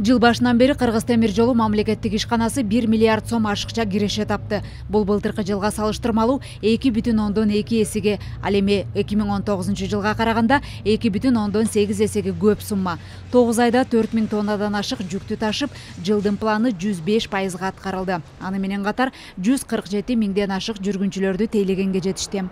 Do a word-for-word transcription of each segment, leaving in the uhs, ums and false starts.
Жыл башынан бери Кыргыз темир жолу мамлекеттик ишканасы бир миллиард сом ашыкча киреше тапты. Бул былтыркы жылга салыштырмалуу эки бүтүн ондон эки эсеге, ал эми эки миң он тогузунчу жылга караганда эки бүтүн ондон сегиз эсеге көп сумма. тогуз айда төрт миң тоннадан ашык жүктү ташып, жылдын планы жүз беш пайызга аткарылды. Аны менен катар жүз кырк жети миңден ашык жүргүнчүлөрдү тейлегенге жетишти.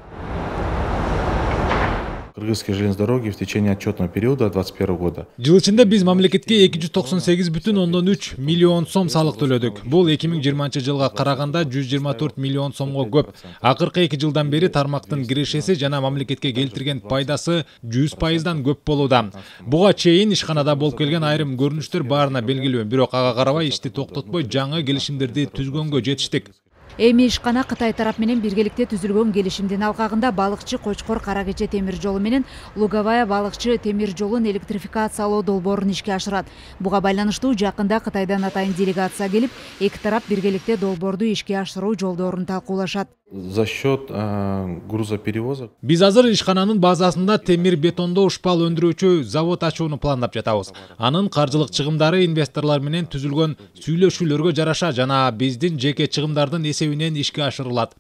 Кыргызские железные дороги в течение отчетного периода двадцать первого года. Жыл ичинде биз мамлекетке эки жүз токсон сегиз бүтүн ондон үч миллион сом салык төлөдүк. Бул эки миң жыйырманчы жылга караганда жүз жыйырма төрт миллион сомго көп. Акыркы эки жылдан бери тармактын кирешеси жана мамлекетке келтирген пайдасы жүз пайыздан көп болууда. Буга чейин ишканада болуп келген айрым көрүнүштөр баарына белгилүү, бирок ага карабай ишти токтотпой жаңы келишимдерди түзгөнгө жетиштик. Эми ишкана Кытай тарап менен биргеликте түзүлгөн келишимдин алкагында балыкчы Кочкор Кара Кече темир жолу менен Луговая балыкчы темир жолун электрификациялоо долбоорун ишке ашырат. Буга байланыштуу жакында Кытайдан атайын делегация келип, эки тарап биргеликте долбоорду ишке ашыруу жолдорун талкуулашат. За счет э, грузоперевозок. Биз азыр ишкананын базасында темир бетондоо ушпал өндүрүүчү завод ачууну пландап жатабыз. Анын каржылык чыгымдары инвесторлор менен түзүлгөн сүйлөшүүлөргө жараша жана биздин жеке чыгымдардын эсебинен ишке ашырылат.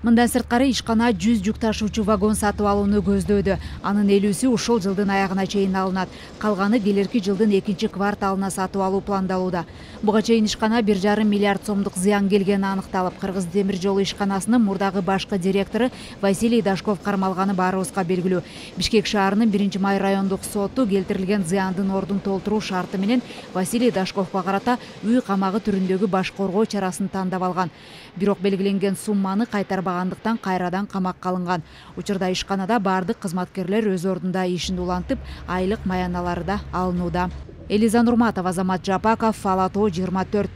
Мындан сырткары ишкана жүз жүк ташуучу вагон сатып алууну көздөөдө. Анын элүүсү ушул жылдын аягына чейин алынат. Калганы келерки жылдын экинчи кварталына сатып алуу пландалууда. Буга чейин ишкана бир жарым миллиард сомдук зыян келгени аныкталып, Кыргыз темир жолу ишканасынын мурдагы башкы директору Василий Дашков кармалганы баарыбызга белгилүү. Бишкек шаарынын биринчи май райондук соту келтирилген зыяндын ордун толтуруу шарты менен Василий Дашковго карата үй камагы түрүндөгү баш коргоо чарасын тандап алган. Бирок белгиленген сумманы кайтарбагандыктан кайрадан камакка алынган. Учурда ишканада бардык кызматкерлер өз ордунда ишин улантып, айлык маяналары да алынууда. Элиза Нурматова, Азамат Жапаков, Фала То жыйырма төрт.